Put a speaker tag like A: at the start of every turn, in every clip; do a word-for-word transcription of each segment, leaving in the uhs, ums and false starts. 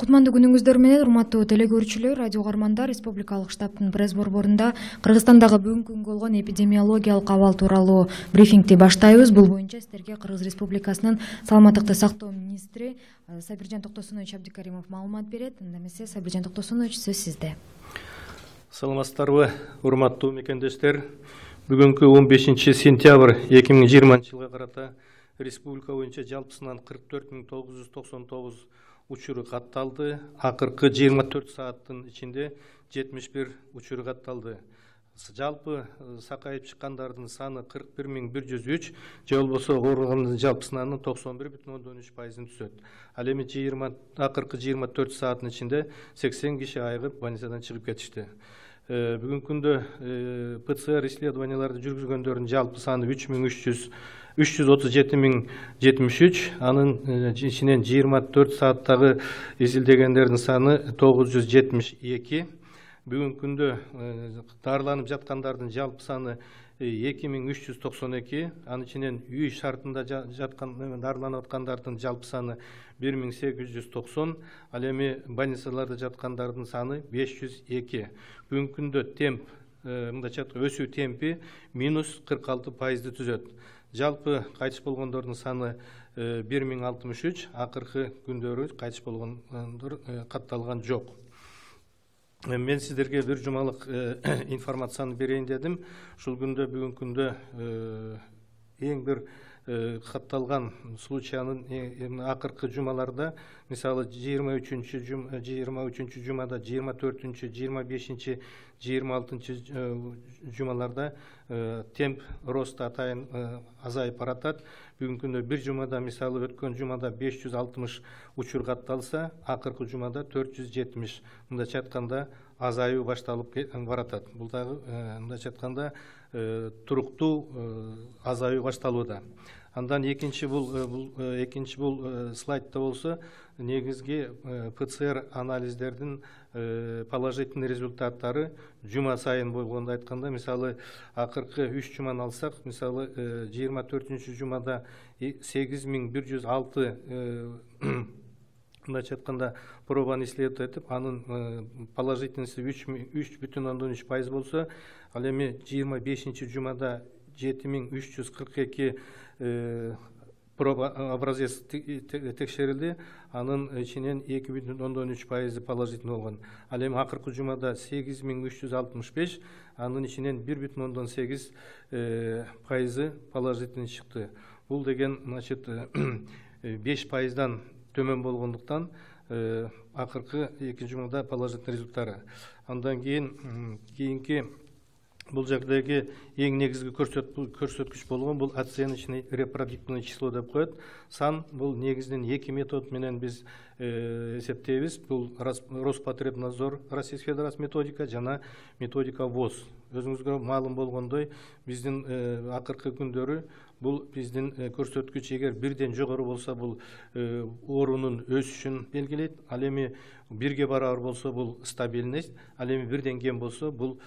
A: Кутмандуу күнүңүздөр менен урматтуу теле көрүүчүлөр, радио угармандар, Республикалык штабтын пресс борборунда Кыргызстандагы бүгүнкү күнгө болгон эпидемиологиялык абал тууралуу брифингти баштайбыз. Бул боюнча сиздерге Кыргыз Республикасынын саламаттыкты сактоо министри Сабиржан Токтосунович Абдикаримов маалымат берет. Анда эмесе Сабиржан Токтосунович, сөз сизде.
B: Саламатсыздарбы, урматтуу мекендештер. Бүгүнкү он бешинчи сентябрь эки миң жыйырманчы жылга карата республика боюнча жалпысынан кырк төрт миң тогуз жүз токсон тогуз учуру катталды. Акыркы жыйырма төрт сааттын ичинде жетимиш бир учуру катталды. Жалпы сакайып чыккандардын саны кырк бир миң бир жүз үч, же болбосо ооругандын жалпы санынын токсон бир бүтүн ондон үч пайызын түзөт. Ал эми акыркы жыйырма төрт сааттын ичинде сексен киши айыгып больницадан чыгып кетишти. Бүгүнкү күндө ПЦР исследованияларды жүргүзгөндөрдүн жалпы саны үч миң үч жүз үч жүз отуз жети миң жетимиш үч, анын ичинен жыйырма төрт сааттагы изилдегендердин саны тогуз жүз жетимиш эки. Бүгүнкү күндө дарыланып жаткандардын жалпы саны эки миң үч жүз токсон эки, анын ичинен үй шартында жаткан дарыланып аткандардын жалпы саны бир миң сегиз жүз токсон, ал эми больницаларда жаткандардын саны беш жүз эки. Бүгүнкү күндө темп, мындайча айтканда өсүү темпи минус кырк алты пайызды түзөт. Жалпы кайтыш болгондордун саны бир миң алтымыш үч, акыркы күндөрү кайтыш болгондор катталган жок. Мен сиздерге бир жумалык информацияны берейин дедим. Ушул күндө бүгүнкү күндө эң бир катталган случаянын акыркы жумаларда, мисалы жыйырма үчүнчү жыйырма үчүнчү жумада, жыйырма төртүнчү, жыйырма бешинчи, жыйырма алтынчы жумаларда темп роста атайын азайып баратат. Бүгүнкү күндө бир жумада, мисалы өткөн жумада беш жүз алтымыш учур катталса, акыркы жумада төрт жүз жетимиш, мындайча айтканда азаюу башталып баратат. Бул дагы мындайча айтканда туруктуу азаюу башталууда. Андан экинчи бул экинчи бул слайдта болсо, негизги ПЦР анализдердин положительный результаттары жума сайын болгондо айтканда, мисалы акыркы үч жуманы алсак, мисалы жыйырма төртүнчү жумада сегиз миң бир жүз алты мындайча айтканда пробаны исследовать этип, анын положительности үч бүтүн ондон үч пайыз болсо, ал эми жыйырма бешинчи жумада жети миң үч жүз кырк эки проба образец текшерилди, анын ичинен эки бүтүн ондон үч пайызы положительный болгон. Ал эми акыркы жумада сегиз миң үч жүз алтымыш беш, анын ичинен бир бүтүн ондон сегиз пайызы положительный чыкты. Бул деген, значит, беш пайыздан төмөн болгондуктан акыркы эки жумада положительный результаттары. Андан кийин кийинки бул жердеги эң негизги көрсөткүч болгон бул оценочный репродуктивный число деп коет. Сан бул негизинен эки метод менен биз эсептейбиз. Бул Роспотребнадзор, Российская Федерация методика жана методика ВОЗ. Өзүңүзгө маалым болгондой, биздин акыркы күндөрү бул биздин көрсөткүч эгер бирден жогору болсо, бул оорунун өсүшүн белгилейт. Ал эми бирге барабар болсо, бул стабильность. Ал эми бирден кем болсо, бул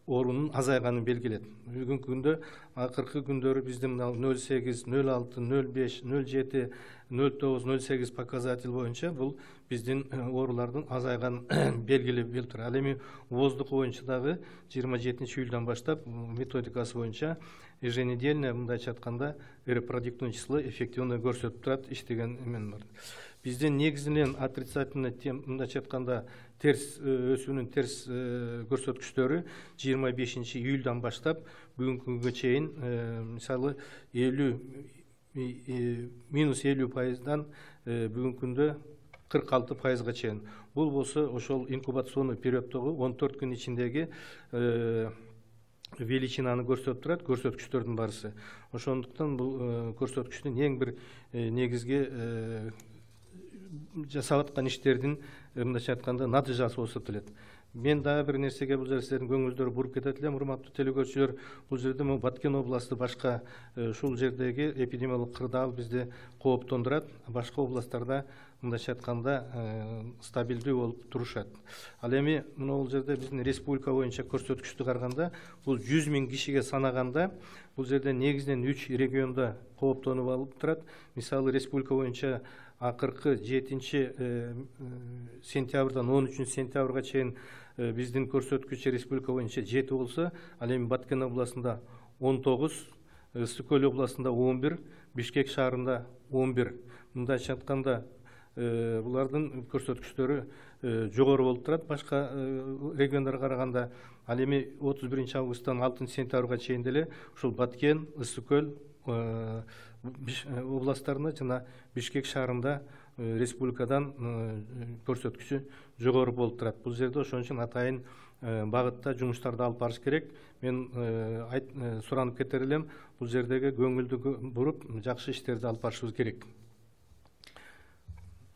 B: оорунун азайганын белгилейт. Бүгүнкү күндө акыркы күндөрү биздин нөл сегиз, нөл алты, нөл беш, нөл жети, нөл тогуз, нөл сегиз показатель боюнча бул биздин оорулардын азайганын белгилеп берип турат. Ал эми ВОЗдук боюнча дагы жыйырма жетинчи июлдан баштап методикасы боюнча еженедельно, мындайча айтканда, репродуктивный число эффективно көрсөтүп турат, иштеген эмен бар. Биздин негизинен отрицательный тем, мындайча айтканда, терс өсүүнүн терс көрсөткүчтөрү жыйырма бешинчи июлдан баштап бүгүнкү күнгө чейин, мисалы элүү минус элүү пайыздан бүгүнкү күндө кырк алты пайызга чейин. Бул болсо ошол инкубационный периодтогу он төрт күн ичиндеги величинаны көрсөтүп турат, көрсөткүчтөрдүн барысы. Ошондуктан бул көрсөткүчтүн эң бир негизги жасап аткан иштердин, мындайча айтканда, натыйжасы болуп эсептелет. Мен дагы бир нерсеге бул жерде сиздердин көңүлүңүздөрү буруп кетет элем, урматтуу телекөрүүчүлөр. Бул жерде Баткен областы башка ушул жердеги эпидемиологдук кырдаал бизди кооптондурат. Башка областтарда мындайча айтканда стабилдүү болуп турушат. Ал эми бул жерде биздин республика боюнча көрсөткүчтү караганда бул жүз миң кишиге санаганда бул жерде негизинен үч региондо кооптонуп алып турат. Мисалы республика боюнча акыркы жетинчи сентябрдан он үчүнчү сентябрга чейин биздин көрсөткүч республика боюнча жети болсо, ал эми Баткен областында он тогуз, Ысык Көл областында он бир, Бишкек шаарында он бир. Мындайча айтканда булардын көрсөткүчтөрү жогору болуп турат башка региондорго караганда. Ал эми отуз биринчи августтан алтынчы сентябрга чейин деле ушул Баткен, Ысык Көл областтарында жана Бишкек шаарында республикадан көрсөткүчү жогору болуп турат. Бул жерде ошон үчүн атайын багытта жумуштарды алып барыш керек. Мен суранып кетер элем, бул жердеги көңүлдү буруп, жакшы иштерди алып барышыбыз керек.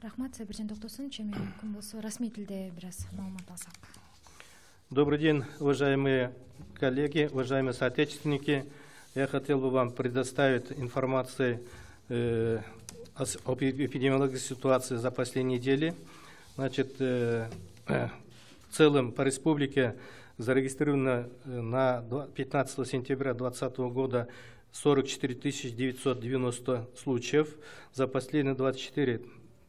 A: Рахмат, Сабиржан Токтосунович. Эми мүмкүн болсо расмий тилде бир аз маалымат алсак.
B: Добрый день, уважаемые коллеги, уважаемые соотечественники. Я хотел бы вам предоставить информацию э, об эпидемиологической ситуации за последние недели. Значит, э, э, в целом по республике зарегистрировано на пятнадцатое сентября две тысячи двадцатого года сорок четыре тысячи девятьсот девяносто случаев. За последние двадцать четыре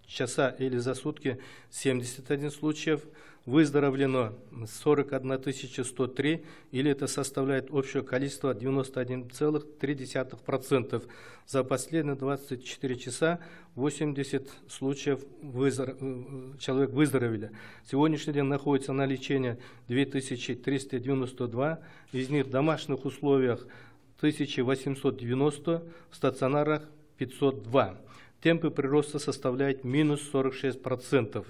B: часа или за сутки семьдесят один случаев. Выздоровлено сорок одна тысяча сто три, или это составляет общее количество девяносто один целых три десятых процента. За последние двадцать четыре часа восемьдесят случаев выздор... человек выздоровели. Сегодняшний день находится на лечении две тысячи триста девяносто два, из них в домашних условиях тысяча восемьсот девяносто, в стационарах пятьсот два. Темпы прироста составляют минус сорок шесть процентов.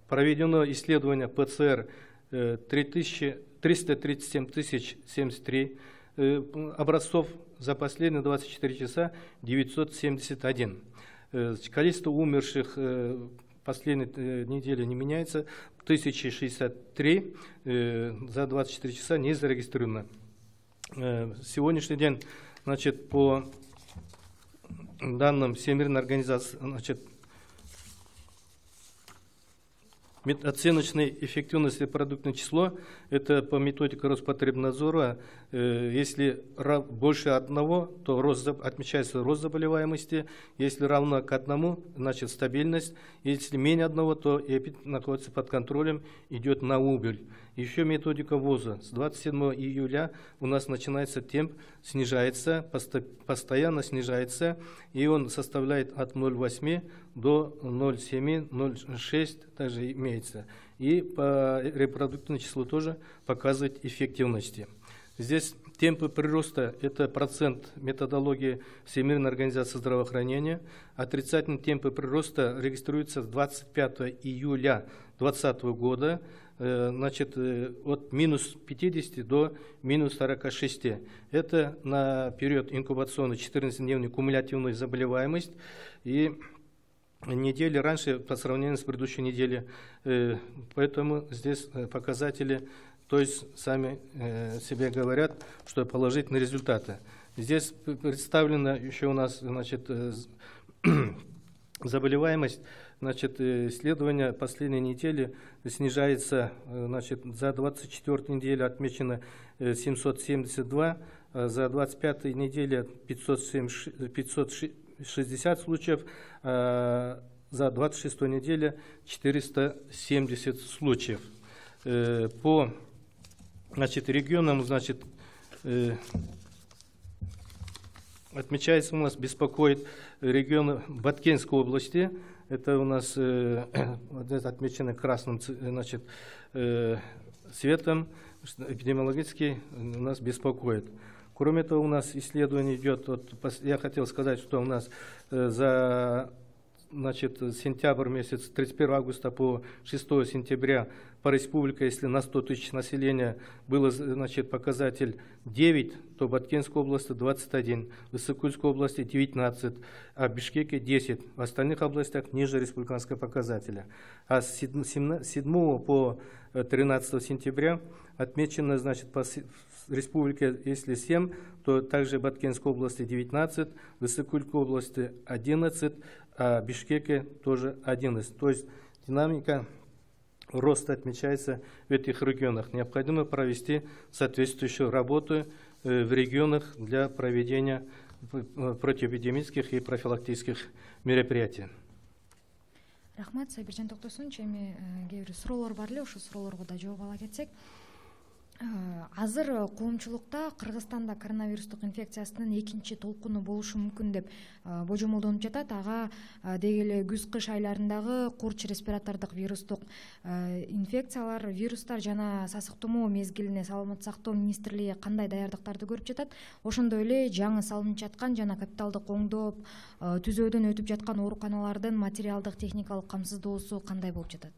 B: Проведено исследование ПЦР триста тридцать семь тысяч семьдесят три образцов, за последние двадцать четыре часа девятьсот семьдесят один. Количество умерших последней недели не меняется, тысяча шестьдесят три, за двадцать четыре часа не зарегистрировано. Сегодняшний день, значит, по данным Всемирной организации, значит, оценочной эффективности продуктное число, это по методике Роспотребнадзора, э, если больше одного, то рост, отмечается рост заболеваемости, если равно к одному, значит стабильность, если менее одного, то эпид находится под контролем, идет на убыль. Еще методика ВОЗа. С двадцать седьмого июля у нас начинается темп, снижается, постоянно снижается, и он составляет от ноль целых восемь до ноль целых семь, ноль целых шесть, также имеется. И по репродуктивному числу тоже показывает эффективности. Здесь темпы прироста – это процент методологии Всемирной организации здравоохранения. Отрицательные темпы прироста регистрируются с двадцать пятого июля две тысячи двадцатого года, значит, от минус пятидесяти до минус сорока шести. Это на период инкубационной четырнадцатидневной кумулятивной заболеваемость. И недели раньше по сравнению с предыдущей неделей. Поэтому здесь показатели, то есть сами себе говорят, что положительные результаты. Здесь представлена еще у нас, значит, заболеваемость, значит, исследование последней недели снижается, значит, за двадцать четвёртую неделю отмечено семьсот семьдесят два, за двадцать пятую неделю пятьсот шестьдесят случаев, за двадцать шестую неделю четыреста семьдесят случаев. По, значит, регионам, значит, отмечается у нас, беспокоит регион Баткенской области. Это у нас э, отмечено красным, значит, э, цветом, эпидемиологически у нас беспокоит. Кроме этого, у нас исследование идет, вот, я хотел сказать, что у нас э, за, значит, сентябрь месяц, с тридцать первого августа по шестого сентября по республике, если на сто тысяч населения было, значит, показатель девять, то в Баткенской области двадцать один, в Ысык-Кульской области девятнадцать, а в Бишкеке десять. В остальных областях ниже республиканского показателя. А с седьмого по тринадцатое сентября отмечено, значит, по республика, если семь, то также Баткенской области девятнадцать, Высокой области одиннадцать, а в Бишкеке тоже одиннадцать. То есть динамика роста отмечается в этих регионах. Необходимо провести соответствующую работу в регионах для проведения противоэпидемических и профилактических мероприятий.
A: Рахмат, Сайбиржан Токтосунович, эми кээ бир суроолор бар эле, ошол суроолорго да жооп ала кетсек. Азыр коомчулукта Кыргызстанда коронавирустук инфекциясынын экинчи толкуну болушу мүмкүн деп божомолдонуп жатат. Ага деги эле күз-кыш айларындагы курч респиратордук вирустук инфекциялар, вирустар жана сасык тумоо мезгилине саламаттык сактоо министрлиги кандай даярдыктарды көрүп жатат? Ошондой эле жаңы салынып жаткан жана капиталдык оңдоп түзөөдөн өтүп жаткан ооруканалардын материалдык техникалык камсыздоосу кандай болуп жатат?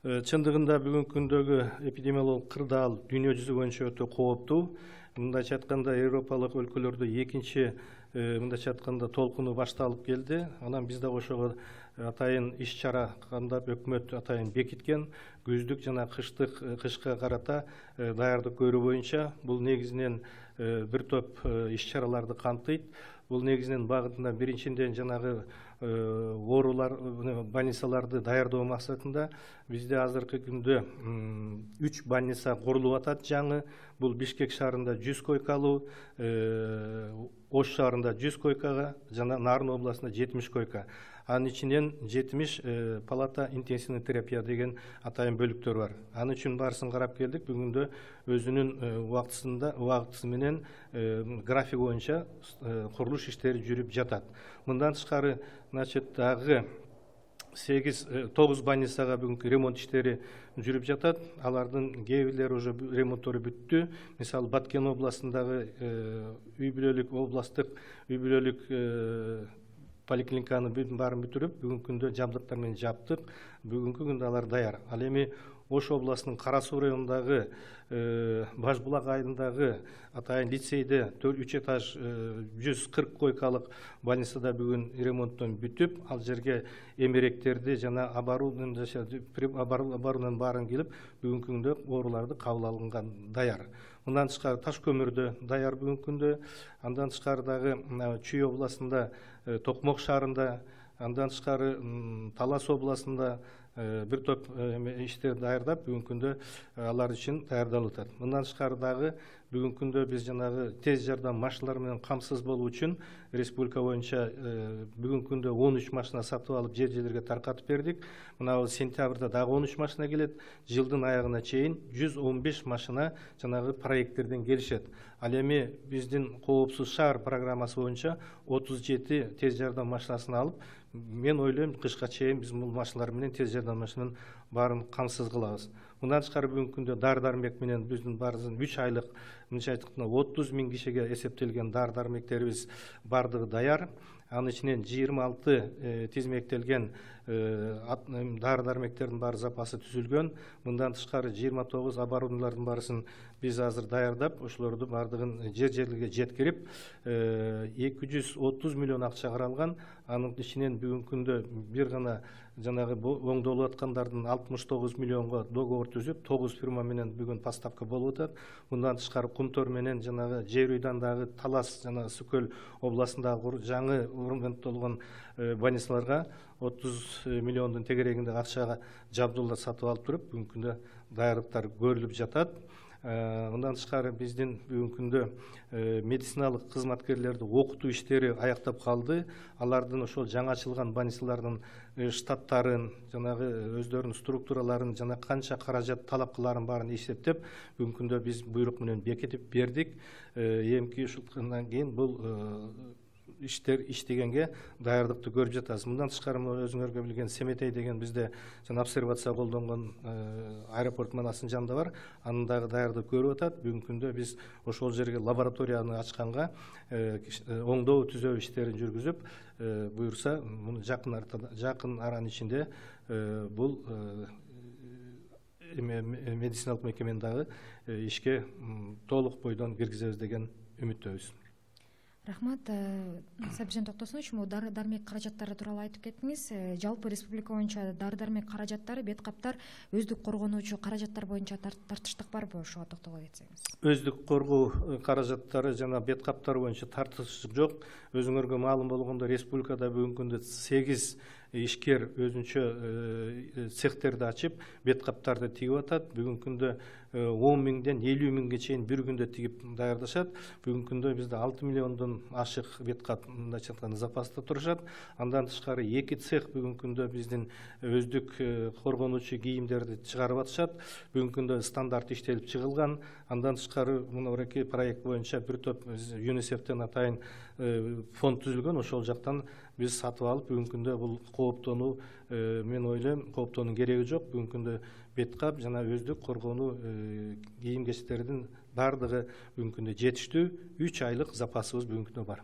B: Чындыгында бүгүнкү күндөгү эпидемиологиялык кырдаал дүйнө жүзү боюнча өтө кооптуу. Мындайча айтканда Европалык өлкөлөрдө экинчи мындайча айтканда толкуну башталып келди. Анан биз дагы ошого атайын иш чара кандап өкмөт атайын бекиткен. Күздүк жана кыштык кышка карата даярдык көрүү боюнча бул негизинен бир топ иш чараларды камтыйт. Бул негизинен багытында биринчиден жанагы оорулар, больницаларды даярдоо максатында бизде азыркы күндө үч больница курулуп атат жаңы. Бул Бишкек шаарында жүз койкалуу, Ош шаарында жүз койкага жана Нарын областында жетимиш койка. Анын ичинен жетимиш палата интенсивный терапия деген атайын бөлүктөр бар. Анын үчүн баарысын карап келдик. Бүгүндө өзүнүн убактысында убактысы менен график боюнча курулуш иштери жүрүп жатат. Мындан тышкары, значит, дагы сегиз тогуз больницага бүгүнкү ремонт иштери жүрүп жатат. Алардын кээ бирлери уже ремонттору бүттү. Мисалы Баткен областындагы үй бүлөлүк областтык үй бүлөлүк поликлиниканы баарын бүтүрүп, бүгүнкү күндө жабдыктар менен жаптык. Бүгүнкү күндө алар даяр. Ал эми Ош областынын Кара Суу районундагы Баш булак айылындагы атайын лицейде үч этаж жүз кырк койкалык больницада бүгүн ремонттон бүтүп, ал жерге эмеректерди жана оборудованиянын баарын келип, бүгүнкү күндө ооруларды кабыл алынган даяр. Мындан тышкары Таш көмүрдө даяр бүгүнкү күндө. Андан тышкары дагы Чүй областында, Токмок шаарында, андан тышкары Талас областында бир топ иштер даярдап, бүгүнкү күндө алар үчүн даярдалып атат. Мындан тышкары дагы бүгүнкү күндө биз жанагы тез жардам машиналары менен камсыз болуу үчүн республика боюнча бүгүнкү күндө он үч машина сатып алып жер жерлерге таркатып бердик. Мына сентябрда дагы он үч машина келет. Жылдын аягына чейин жүз он беш машина жанагы проекттерден келишет. Ал эми биздин коопсуз шаар программасы боюнча отуз жети тез жардам машинасын алып, мен ойлойм кышка чейин биз бул машиналар менен тез жардам машинанын баарын камсыз кылабыз. Мындан тышкары бүгүнкү күндө дары-дармек менен биздин баарыбыздын үч айлык мынча айтканда отуз миң кишиге эсептелген дары-дармектерибиз бардыгы даяр. Анын ичинен жыйырма алты тизмектелген дары-дармектердин баары запасы түзүлгөн. Мындан тышкары жыйырма тогуз оборудованиялардын баарысын биз азыр даярдап, ошолорду бардыгын жер жерлерге жеткирип, эки жүз отуз миллион акча каралган. Анын ичинен бүгүнкү күндө бир гана жанагы оңдолуп аткандардын алтымыш тогуз миллионго договор түзүп, тогуз фирма менен бүгүн поставка болуп атат. Мындан тышкары Кумтор менен жанагы Жер Уйдандагы Талас жана Сүкөл областындагы жаңы орнотулган больницаларга отуз миллиондун тегерегинде акчага жабдуулар сатып алып туруп, бүгүнкү күндө даярдыктар көрүлүп жатат. Мындан тышкары биздин бүгүнкү күндө медициналык кызматкерлерди окутуу иштери аяктап калды. Алардын ошол жаңы ачылган больницалардын штаттарын, жанагы өздөрүнүн структураларын жана канча каражат талап кыларын баарын эсептеп, бүгүнкү күндө биз буйрук менен бекитип бердик. Эмки ушундан кийин бул иштер иштегенге даярдыкты көрүп жатабыз. Мындан тышкары өзүңөргө билген Семетей деген бизде жана обсервация колдонгон аэропорт манасынын жанында бар. Анын дагы даярдык көрүп атат. Бүгүнкү күндө биз ошол жерге лабораторияны ачканга оңдоо түзөө иштерин жүргүзүп, буюрса муну жакын жакын аранын ичинде бул медициналык мекемени дагы ишке толук бойдон киргизебиз деген үмүттөбүз.
A: Рахмат. Сабиржан Токтосунович, могу дары дармек каражаттары тууралуу айтып кеттиңиз. Жалпы республика боюнча дары дармек каражаттары, бет каптар, өздүк коргонуучу каражаттар боюнча тартыштык барбы? Ошого токтоло кетсеңиз.
B: Өздүк коргоо каражаттары жана бет каптар боюнча тартыштык жок. Өзүңөргө маалым болгондой, республикада бүгүнкү күндө сегиз ишкер өзүнчө цехтерди ачып, бет каптарды тигип атат. Бүгүнкү күндө он миңден элүү миңге чейин бир күндө тигип даярдашат. Бүгүнкү күндө бизде алты миллиондон ашык бет кап мындайча айтканда запаста турушат. Андан тышкары эки цех бүгүнкү күндө биздин өздүк коргонуучу кийимдерди чыгарып атышат. Бүгүнкү күндө стандарт иштелип чыгылган. Андан тышкары мынабеки проект боюнча бир топ ЮНИСЕФтен атайын фонд түзүлгөн. Ошол жактан биз сатып алып, бүгүнкү күндө бул кооптонуу, мен ойлойм, кооптоонун кереги жок. Бүгүнкү күндө бет кап жана өздүк коргонуу кийим кечтердин баардыгы бүгүнкү күндө жетиштүү, үч айлык запасыбыз бүгүнкү күндө бар.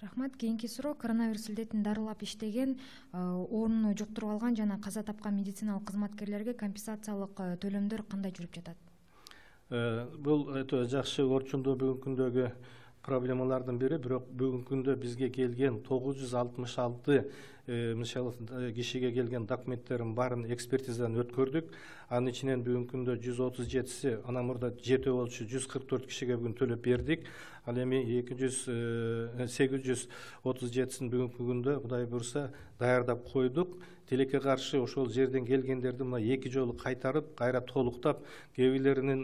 A: Рахмат. Кийинки суроо: коронавирус илдетин дарылап иштеген, ооруну жуктуруп алган жана каза тапкан медициналык кызматкерлерге компенсациялык төлөмдөр кандай жүрүп жатат?
B: Бул өтө жакшы орчундуу бүгүнкү күндөгү проблемалардын бири. Бирок бүгүнкү күндө бизге келген тогуз жүз алтымыш алты мисалы кишиге келген документтердин баарын экспертизадан өткөрдүк. Анын ичинен бүгүнкү күндө жүз отуз жетиси анан мурда жетөө болчу, жүз кырк төрт кишиге бүгүн төлөп бердик. Ал эми эки жүз сегиз жүз отуз жетисин бүгүнкү күндө Кудай буйруса даярдап койдук. Тилекке каршы ошол жерден келгендерди мына эки жолу кайтарып, кайра толуктап, кээ бирлеринин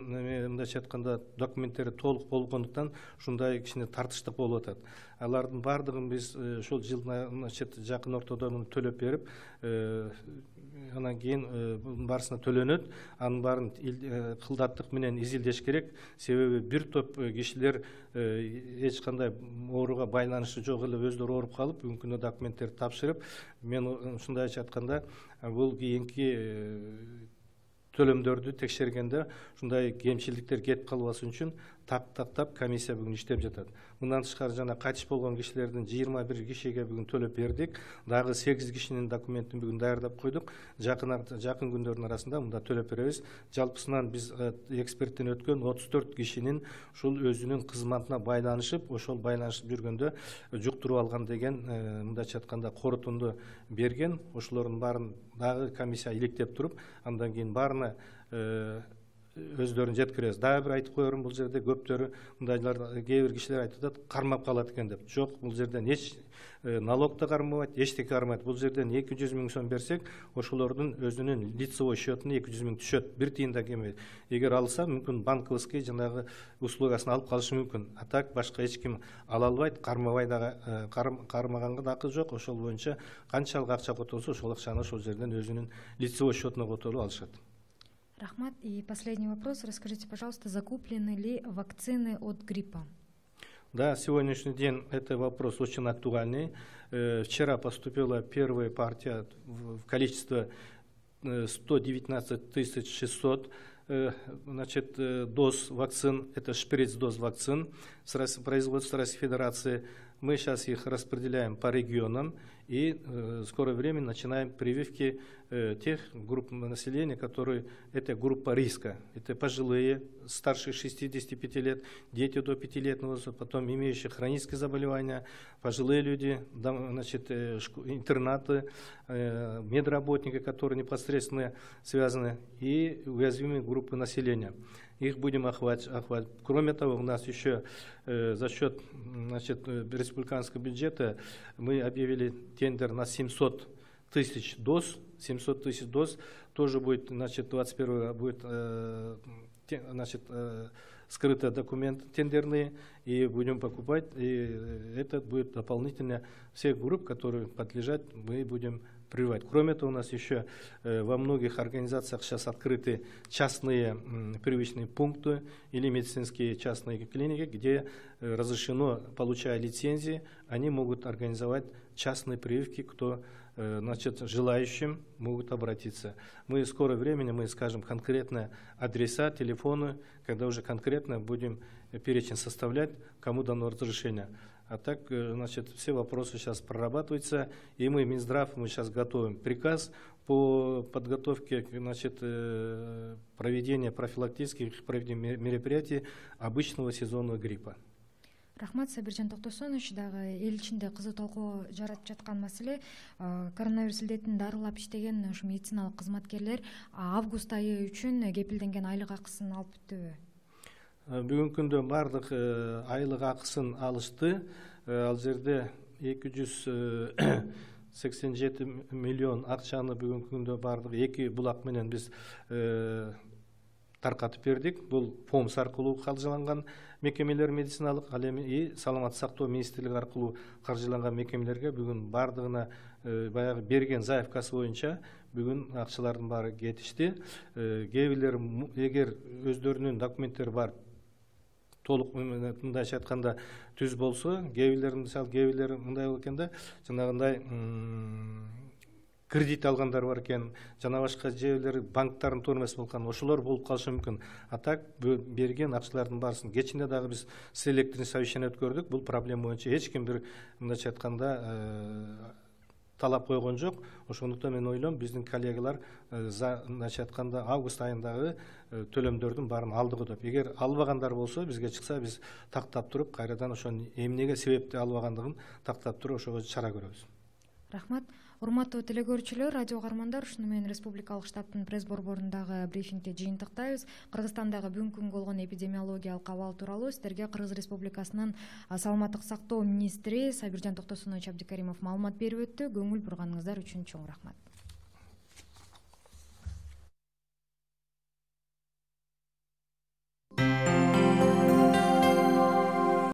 B: мындайча айтканда документтери толук болгондуктан ушундай кичине тартыштык болуп атат. Алардын баардыгын биз ошол жылдын жакын ортодо муну төлөп берип, анан кийин bunun барысына төлөнөт. Анын баарын кылдаттык менен изилдеш керек. Себеби бир топ кишилер эч кандай ооруга байланышы жок эле өздөрү ооруп калып, бүгүнкү күндө документтерди тапшырып, мен ушундайча айтканда бул кийинки төлөмдөрдү текшергенде ушундай кемчиликтер кетип калбасын үчүн тактап комиссия бүгүн иштеп жатат. Мындан тышкары жана кайтыш болгон кишилердин жыйырма бир кишиге бүгүн төлөп бердик. Дагы сегиз кишинин документин бүгүн даярдап койдук. Жакын жакын күндөрдүн арасында мында төлөп беребиз. Жалпысынан биз эксперттен өткөн отуз төрт кишинин ушул өзүнүн кызматына байланышып, ошол байланышып жүргөндө жуктуруп алган деген мындайча айтканда корутунду берген. Ошолордун баарын дагы комиссия иликтеп туруп, андан кийин баарына өздөрүн жеткиребиз. Дагы бир айтып коерум, бул жерде көптөрү мындайлар, кээ бир кишилер айтып атат, кармап калат экен деп. Жок, бул жерден эч налог да кармабайт, эчтеке кармайт. Бул жерден эки жүз миң сом берсек, ошолордун өзүнүн лицевой счетуна эки жүз миң түшөт. Бир тиын да келбейт. Эгер алса, мүмкүн банковский жанагы услугасын алып калышы мүмкүн. А так башка эч ким ала албайт, кармабай дагы, кармаганга да акы жок. Ошол боюнча канчалык акча которсо, ошол акчаны ошол жерден өзүнүн лицевой счетуна которуп алышат.
A: Рахмат. И последний вопрос. Расскажите, пожалуйста, закуплены ли вакцины от гриппа?
B: Да, сегодняшний день это вопрос очень актуальный. Вчера поступила первая партия в количестве сто девятнадцать тысяч шестьсот значит, доз вакцин, это шприц-доз вакцин с производства Российской Федерации. Мы сейчас их распределяем по регионам и в скорое время начинаем прививки тех групп населения, которые это группа риска. Это пожилые, старше шестидесяти пяти лет, дети до пятилетнего возраста, потом имеющие хронические заболевания, пожилые люди, значит, интернаты, медработники, которые непосредственно связаны, и уязвимые группы населения. Их будем охватывать. Кроме того, у нас еще э, за счет значит, республиканского бюджета мы объявили тендер на семьсот тысяч доз. семьсот тысяч доз тоже будет, значит, двадцать первого будет э, те, значит, э, скрыто документы тендерные, и будем покупать, и это будет дополнительно всех групп, которые подлежат, мы будем прививать. Кроме того, у нас еще э, во многих организациях сейчас открыты частные э, прививочные пункты или медицинские частные клиники, где э, разрешено, получая лицензии, они могут организовать частные прививки, кто э, значит, желающим могут обратиться. Мы в скорое время мы скажем конкретно адреса, телефоны, когда уже конкретно будем перечень составлять, кому дано разрешение. А так, значит, все вопросы сейчас прорабатываются, и мы, Минздрав, мы сейчас готовим приказ по подготовке, значит, проведения профилактических мероприятий обычного сезонного гриппа.
A: Рахмат, Сабиржан Токтосонович. Дагы эл ичинде кызуу талкуу жаратып жаткан маселе коронавирус илдетин дарылап иштеген ушу медициналык кызматкерлер август айы үчүн кепилденген айлык акысын алып бүттүбү?
B: Бүгүнкү күндө баардык айлык акысын алышты. Ал жерде эки жүз сексен жети миллион акчаны бүгүнкү күндө баардык эки булак менен биз таркатып бердик. Бул ФОМС аркылуу каржыланган мекемелер медициналык, ал эми саламаттык сактоо министрлиги аркылуу каржыланган мекемелерге бүгүн баардыгына баягы берген заявкасы боюнча бүгүн акчалардын баары кетишти. Кээ бирлери эгер өздөрүнүн документтери бар, толук мындайча айтканда түз болсо, кээ бирлери мисалы кээ бирлери мындай болот экен да, жанагындай кредит алгандар бар экен, жана башка жерлер банктардын турмасы болгон, ошолор болуп калышы мүмкүн. А так берген акчалардын баарысын кечинде дагы биз селекторный совещание өткөрдүк. Бул проблема боюнча эч ким бир мындайча айтканда талап койгон жок. Ошондуктан мен ойлойм, биздин коллегалар мындайча айтканда август айындагы төлөмдөрдүн баарын алдыгы деп. Эгер албагандар болсо, бизге чыкса, биз тактап туруп, кайрадан ошону эмнеге себепти албагандыгын тактап туруп, ошого чара көрөбүз.
A: Рахмат. Урматтуу телекөрүүчүлөр, радио каармандар, ушуну менен Республикалык штабтын пресс борборундагы брифингди жыйынтыктайбыз. Кыргызстандагы бүгүнкү күнгө болгон эпидемиологиялык абал тууралуу сиздерге Кыргыз Республикасынын саламаттык сактоо министри Сабиржан Токтосонович Абдикаримов маалымат берип өттү. Көңүл бурганыңыздар үчүн чоң рахмат.